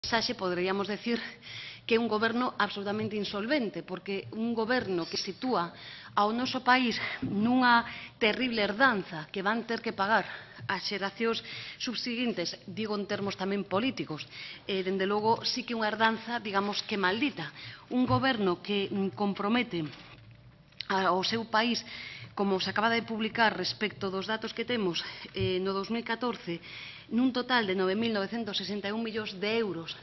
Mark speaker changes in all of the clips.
Speaker 1: mensaxe poderíamos decir que é un goberno absolutamente insolvente, porque un goberno que sitúa ao noso país nunha terrible herdanza que van ter que pagar as xeracións subseguintes, digo en termos tamén políticos, dende logo sí que unha herdanza, digamos que maldita. Un goberno que compromete ao seu país, como se acaba de publicar respecto dos datos que temos no 2014, nun total de 9.961 millóns de euros,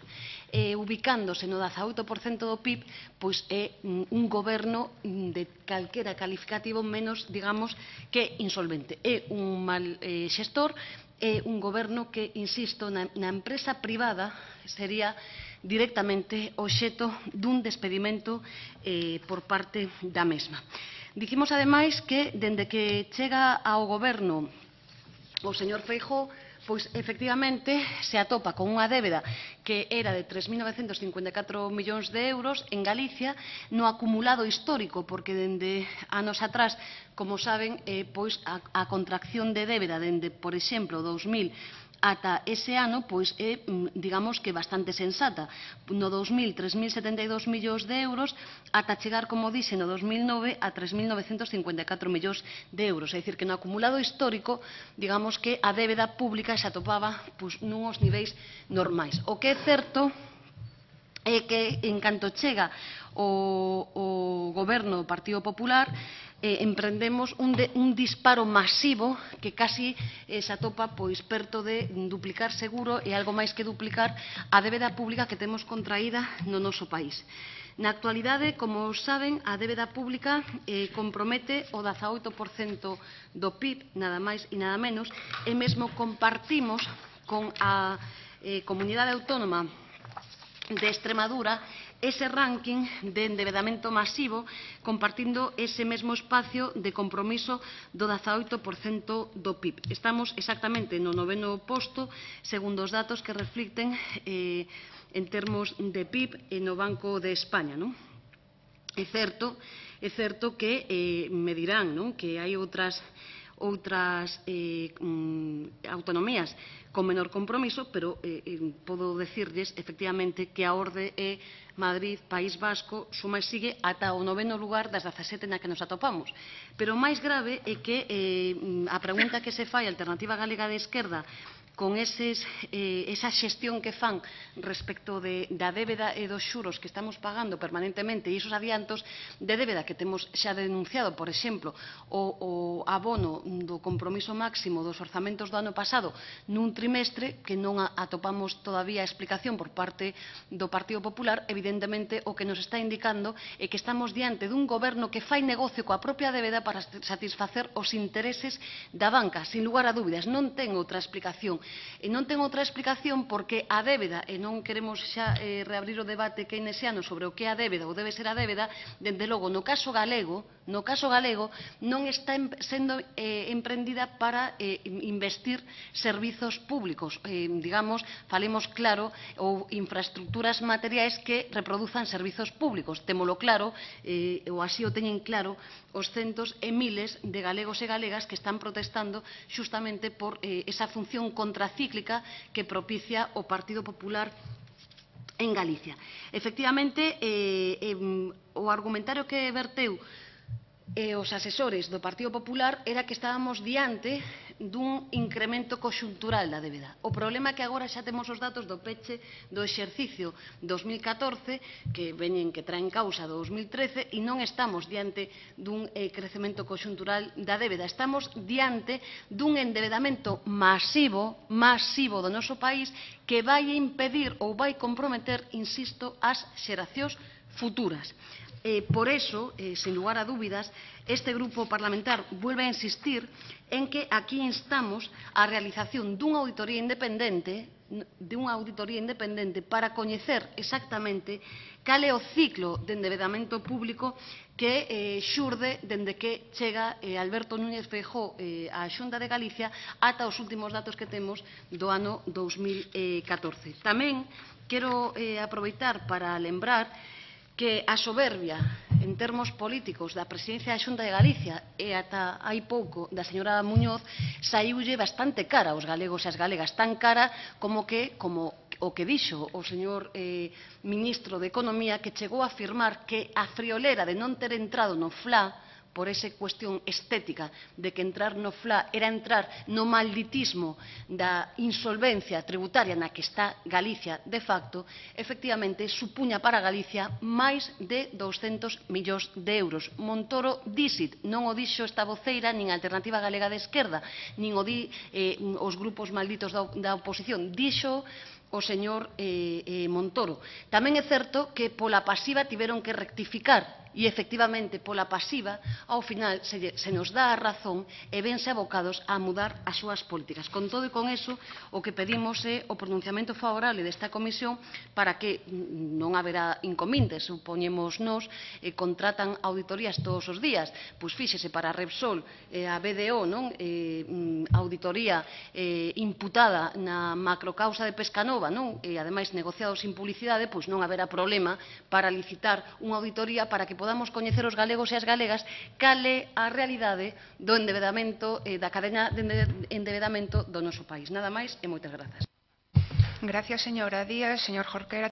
Speaker 1: ubicándose no 18% do PIB, pois é un goberno de calquera calificativo menos, digamos, que insolvente. É un mal xestor, é un goberno que, insisto, na empresa privada sería directamente obxecto dun despedimento por parte da mesma. Dicimos, ademais, que dende que chega ao goberno o señor Feijóo, pois efectivamente se atopa con unha débeda que era de 3.954 millóns de euros en Galicia no acumulado histórico, porque dende anos atrás, como saben, pois a contracción de débeda dende, por exemplo, 2000 ata ese ano, pois é, digamos que bastante sensata. No 2000, 3.072 millóns de euros, ata chegar, como dixe, no 2009 a 3.954 millóns de euros. É dicir, que no acumulado histórico, digamos que a débeda pública se atopaba nuns niveis normais. O que é certo é que, en canto chega o goberno do Partido Popular, emprendemos un disparo masivo que casi se atopa perto de duplicar seguro e algo máis que duplicar a débeda pública que temos contraída no noso país. Na actualidade, como saben, a débeda pública compromete o 18% do PIB, nada máis e nada menos, e mesmo compartimos con a Comunidade Autónoma de Extremadura ese ranking de endebedamento masivo, compartindo ese mesmo espacio de compromiso do 18% do PIB. Estamos exactamente no 9º posto, segundo os datos que reflicten en termos de PIB no Banco de España. É certo que me dirán que hai outras autonomías con menor compromiso, pero podo decirles efectivamente que a orde é Madrid, País Vasco, suma e sigue ata o 9º lugar das 17 na que nos atopamos. Pero o máis grave é que a pregunta que se fai a Alternativa Galega de Esquerda con esa xestión que fan respecto da débeda e dos xuros que estamos pagando permanentemente e esos adiantos de débeda que temos xa denunciado, por exemplo, o abono do compromiso máximo dos orzamentos do ano pasado nun trimestre que non atopamos todavía explicación por parte do Partido Popular, evidentemente o que nos está indicando é que estamos diante dun goberno que fai negocio coa propia débeda para satisfacer os intereses da banca, sin lugar a dúbidas. Non ten outra explicación. E non ten outra explicación porque a débeda, e non queremos xa reabrir o debate keynesiano sobre o que é a débeda ou debe ser a débeda, dende logo, no caso galego, non está sendo emprendida para investir servizos públicos, digamos, falemos claro, ou infraestructuras materiais que reproduzan servizos públicos. Témolo claro, ou así o teñen claro, os centos e miles de galegos e galegas que están protestando xustamente por esa función contracíclica que propicia o Partido Popular en Galicia. Efectivamente, o argumentario que verteu os asesores do Partido Popular era que estábamos diante dun incremento conxuntural da débeda. O problema é que agora xa temos os datos do peche do exercicio 2014 que traen causa do 2013 e non estamos diante dun crecemento conxuntural da débeda. Estamos diante dun endebedamento masivo do noso país que vai impedir ou vai comprometer, insisto, as xeracións futuras. Por eso, sin lugar a dúbidas, este grupo parlamentar vuelve a insistir en que aquí instamos a realización dunha auditoría independente para coñecer exactamente cal é o ciclo de endebedamento público que xurde dende que chega Alberto Núñez Feijóo á Xunta de Galicia ata os últimos datos que temos do ano 2014. Tamén quero aproveitar para lembrar que a soberbia en termos políticos da presidencia da Xunta de Galicia e ata hai pouco da señora Muñoz saíulle bastante cara aos galegos e as galegas, tan cara como o que dixo o señor ministro de Economía, que chegou a afirmar que a friolera de non ter entrado no FLA por esa cuestión estética de que entrar no FLA era entrar no malditismo da insolvencia tributaria na que está Galicia de facto, efectivamente supuña para Galicia máis de 200 millóns de euros. Montoro díxit, non o dixo esta voceira, nin a Alternativa Galega de Esquerda, nin o di os grupos malditos da oposición, dixo o señor Montoro. Tamén é certo que pola pasiva tiveron que rectificar e, efectivamente, pola pasiva, ao final se nos dá a razón e vense abocados a mudar as súas políticas. Con todo e con eso, o que pedimos é o pronunciamento favorable desta comisión para que non haberá inconvenientes. Supoñemos nos contratan auditorías todos os días. Pois fíxese, para a Repsol, a BDO, non? Auditoría imputada na macrocausa de Pescanova, non? E, ademais, negociado sin publicidade, pois non haberá problema para licitar unha auditoría para que podamos coñecer os galegos e as galegas cal é a realidade do endebedamento, da cadena de endebedamento do noso país. Nada máis e moitas grazas.
Speaker 2: Gracias, señora Díaz. Señor Jorquera.